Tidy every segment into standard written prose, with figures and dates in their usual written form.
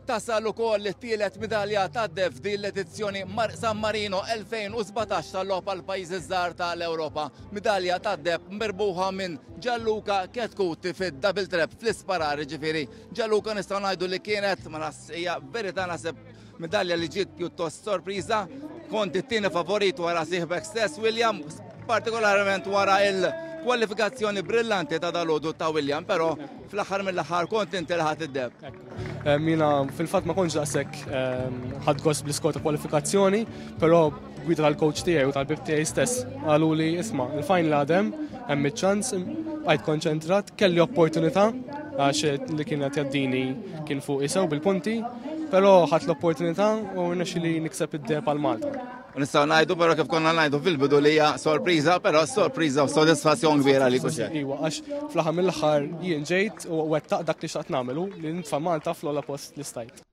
Tasal ukoll it-tielet midalja tad-deheb f'din l-edizzjoni San Marino 2017 tal-Logħob għall-Pajjiżi Żgħar tal-Ewropa. Midalja tad-deheb mirbuħa minn Gianluca Chetcuti fid-double trap fl-isparar ġifieri. Gianluca nistgħu ngħidu li kienet ma nas hija verità naħseb midalja li ġiet pjuttost sorpriża. Kont it-tieni favorit wara sieħbek stess William, partikolarment wara il-kwalifikazzjoni brillanti ta' dalodu ta' William, però fl-aħħar mill-aħħar kont inti li ħadt id-deheb. Jiena fil-fatt ma kontx daqshekk ħadt gost bl-iskor ta' kwalifikazzjoni, però gwida tal-coach tiegħi u tal-bib tiegħi stess qalu li isma' il-final għadem, hemm iċ-ċans, bqajt konċentrat, kelli opportunità għax li kien qed jgħaddini kien fuq isew bil-punti, però ħadt l-opportunità u rnexxieli nikseb id-deheb għal Malta. U nistgħu ngħidu però kif konna ngħidu fil-bidu li hija sorpriża, però sorpriża u sodisfazzjon kbira li kuxek. Iwa, għax fl-aħħar mill-aħħar jien ġejt u wettaq dak li xtaqt nagħmelu li nitfa' Malta fl-ogħla post li stajt.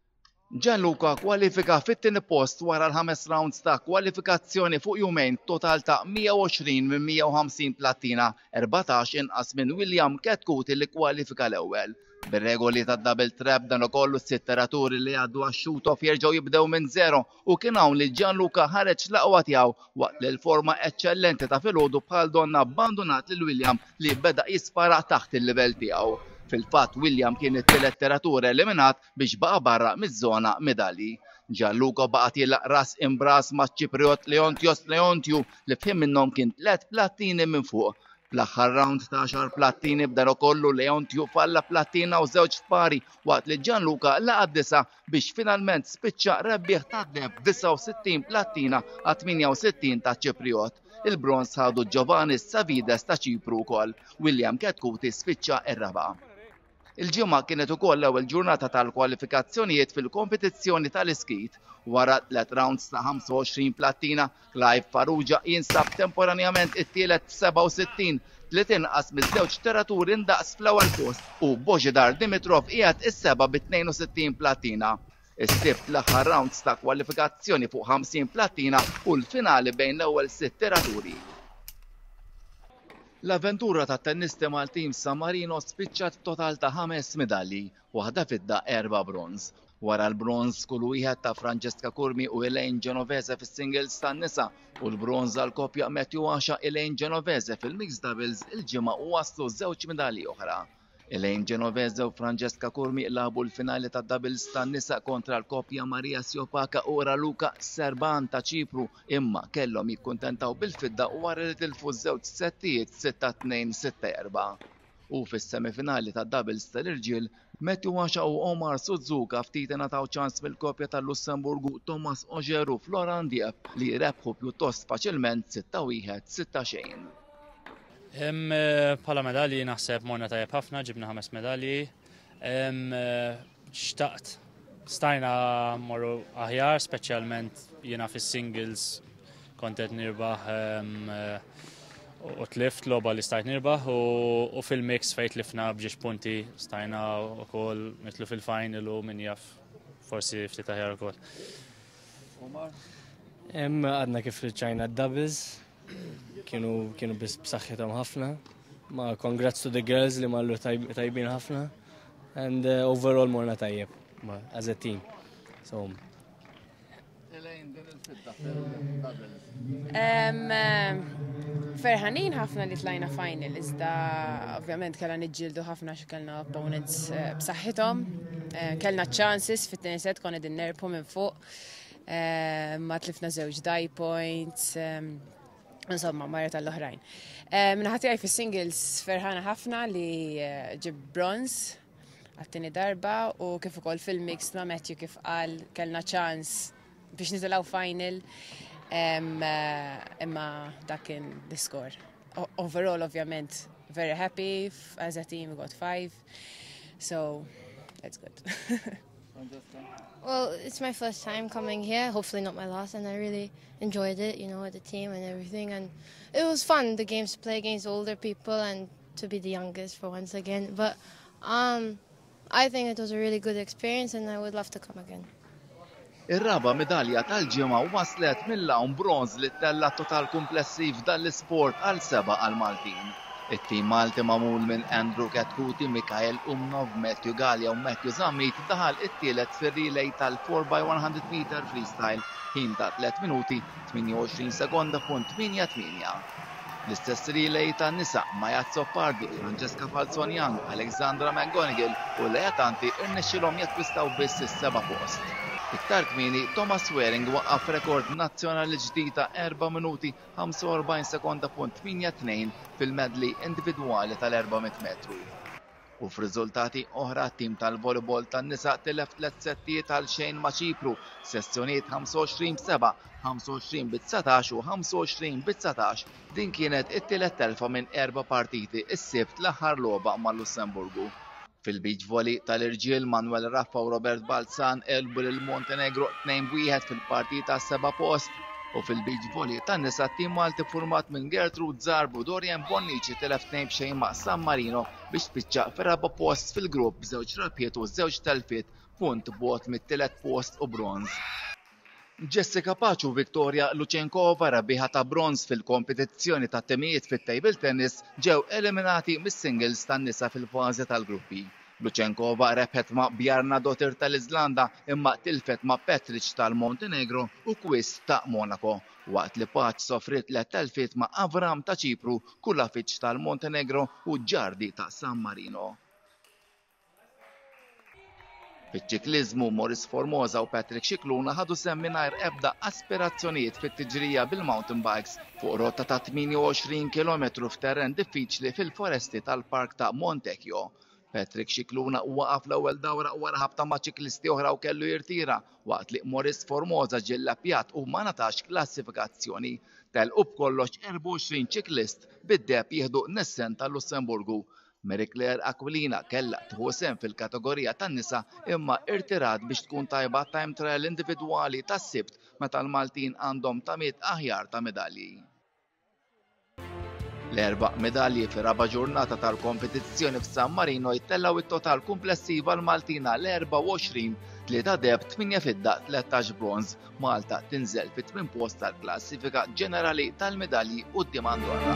Gianluca kwalifika fit-tieni post wara l-ħames rounds ta' kwalifikazzjoni fuq jumejn total ta' 120 minn 150 plattina, 14 inqas minn William Chetcuti li kwalifika l-ewwel. Bir-regoli ta' double trap dan ukoll s-sitt tiraturi li għaddu għax-shoot-off jerġgħu jibdew minn zero u kien hawn li Gianluca ħareġ l-aqwa tiegħu waqt li l-forma eċċellenti ta' filgħodu bħal donna abbandunat lil William li beda jispara taħt il-livell tiegħu. Fil-fatt William kien it-tielet tiratur eliminat biex baqa' barra miż-żona medalji. Gianluca baqa' tielaq ras imbras maċ-Ċipriot Leontios Leontiou li f'ħin minnhom kien tliet plattini minn fuq. Fl-aħħar round ta' għaxar plattini b'dan ukollu Leontiou falla plattina u żewġ spari waqt li Gianluca laqa' disa' biex finalment spiċċa rebbieħ tad-deheb 69 plattina għal 68 ta' Ċipriot. Il-bronż ħadu Giovanni Savides ta' Ċipru wkoll. William Chetcuti spiċċa r-raba'. Il-Ġimgħa kienet ukoll l-ewwel ġurnata tal-kwalifikazzjonijiet fil-kompetizzjoni tal-iskeet. Wara tliet rounds ta' 25 plattina, Clive Farrugia jinsab temporanjament it-tielet b'67, tliet inqas miż-żewġ tiraturi ndaqs fl-ewwel post u Bozhidar Dimitrov qiegħed is-seba' bi 62 plattina. Is-Sibt l-aħħar rounds ta' kwalifikazzjoni fuq 50 plattina u l-finali bejn l-ewwel sitt tiraturi. L-avventura tat-tennisti Maltin f'San Marino spiċċat b'total ta' ħames midalji, waħda fidda, erba' bronż. Wara l-bronż kull wieħed ta' Francesca Curmi u Elaine Genovese fis-singles tan-nisa u l-bronż għall-koppja Matthew Asha Elaine Genovese fil-mixed doubles il-Ġimgħa waslu żewġ midalji oħra. Elaine Genovese u Francesca Curmi lagħbu l-finali tad-doubles tan-nisa kontra l-koppja Maria Siopaka u Raluca Serban ta' Ċipru imma kellhom jikkuntentaw bil-fidda wara li tilfu żewġ settijiet 6-2, 6-4. U fis-semifinali tad-doubles tal-irġiel, Matthew Asha u Omar Suzuka ftit ingħataw ċans mill-koppja tal-Lussemburgu Thomas Oger u Florent Diep li rebħu pjuttost faċilment 6-1, 6-0. Bħala medalji naħseb morna tajjeb ħafna, ġibna ħames medalji. Xtaqt, stajna morru aħjar, speċjalment jiena fis-singles kont qed nirbaħ u tlift logħba li stajt nirbaħ u fil-mix fejn tlifna b'ġiex punti stajna wkoll nitlu fil-final u min jaf forsi ftit aħjar ukoll. Għadna kif riċċajna d-doubles, kienu kienu biss b'saħħithom ħafna. Ma congrats to the girls li marru tajbin ħafna. And overall morna tajjeb ma as a team. So Ferħanin ħafna li tlajna final, iżda ovvjament kellna niġġieldu ħafna xi kellna opponents b'saħħithom. Kellna chances fit-tieni set konna din nerbħu minn fuq. Ma tlifna żewġ die points. Insomma, marja tal-oħrajn. Min-naħa tiegħi fis-singles ferħana ħafna li ġib bronze għat-tieni darba u kif ukoll fil-mix ma' Matthew kif qal kellna ċans biex nitilgħu final imma dak kien l-iskor. Overall, ovvjament, very happy. As a team, we got 5. So, that's good. Well, it's my first time coming here, hopefully not my last, and I really enjoyed it, with the team and everything. And it was fun, the games to play against older people and to be the youngest for once again. But I think it was a really good experience and I would love to come again. Ir-raba' midalja tal-ġimgħa waslet mill-għawm bronż li tella' total kumplessiv dan l-isport għal seba' għal Maltin. It-tim Malti magħmul minn Andrew Chetcuti, Mikael Umnov, Matthew Galea u Matthew Zammit daħal it-tielet fir-relay tal-4x100 meter freestyle, ħin ta' 3 minuti 28 sekonda punt 88. L-istess relay tan-nisa, Maya Azzopardi, Francesca Falzon Young, Alexandra McGonigal u Lea Tanti rnexxielhom jakkwistaw biss is-seba' post. Iktar kmieni, Thomas Waring waqqaf rekord nazzjonali ġdid ta' 4 minuti 45 sekonda punt 82 fil-medley individwali tal-400 metru. U f'riżultati oħra t-tim tal-volleyball tan-nisa tilef tliet settijiet għal xejn ma' Ċipru, sessjonijiet 25 b'7, 25 bi 19 u 25 bi 19. Din kienet it-tielet telfa minn erba' partiti s-Sibt l-aħħar logħba mal-Lussemburgu. Fil-beach volley tal-irġiel Manuel Raffa u Robert Balzan għelbu lil Montenegro 2-1 fil-partita għas-seba' post u fil-beach volley tan-nisa t-tim Malti ffurmat minn Gertrude Zarb u Dorian Bonnici tilef 2 b'xejn ma' San Marino biex spiċċa fir-raba' post fil-grupp b'żewġ rebħiet u żewġ telfiet, punt bogħod mit-tielet post u bronż. Jessica Pace u Victoria Luchenkova, rebbieħa ta' bronż fil-kompetizzjoni tat-timijiet fit-table tennis, ġew eliminati mis-singles tan-nisa fil-fażi tal-gruppi. Luchenkova rebħet ma' Bjarnadottir tal-Iżlanda imma tilfet ma' Petric tal-Montenegro u Quist ta' Monaco, waqt li Pace sofriet tliet telfiet ma' Avram ta' Ċipru, Kulafic tal-Montenegro u Giardi ta' San Marino. Fiċ-ċikliżmu, Maurice Formosa u Patrick Scicluna ħadu sehem mingħajr ebda aspirazzjonijiet fit-tiġrija bil-mountain bikes fuq rotta ta' 28 kilometru f'terren diffiċli fil-foresti tal-Park ta' Montecchio. Patrick Scicluna waqaf l-ewwel dawra wara ħabta ma' ċiklisti oħra u kellu jirtira waqt li Maurice Formosa ġie llappjat u ma ngħatax klassifikazzjoni. Telqu b'kollox 24 ċiklist bid-deheb jieħdu Nissen tal-Lussemburgu. Mary Claire Aquilina kellha tieħu sehem fil-kategorija tan-nisa imma irtirat biex tkun tajba għat-time trial individwali tas-Sibt meta l-Maltin għandhom tamiet aħjar ta' medalji. L-erba' medalji fir-raba' ġurnata tal-kompetizzjoni f'San Marino jtellgħu it-total kumplessiv għall-Maltin għal 24, tlieta deheb, tmienja fidda, 13 bronż. Malta tinżel fit-tmien post tal-klassifika ġenerali tal-medalji quddiem Andorra.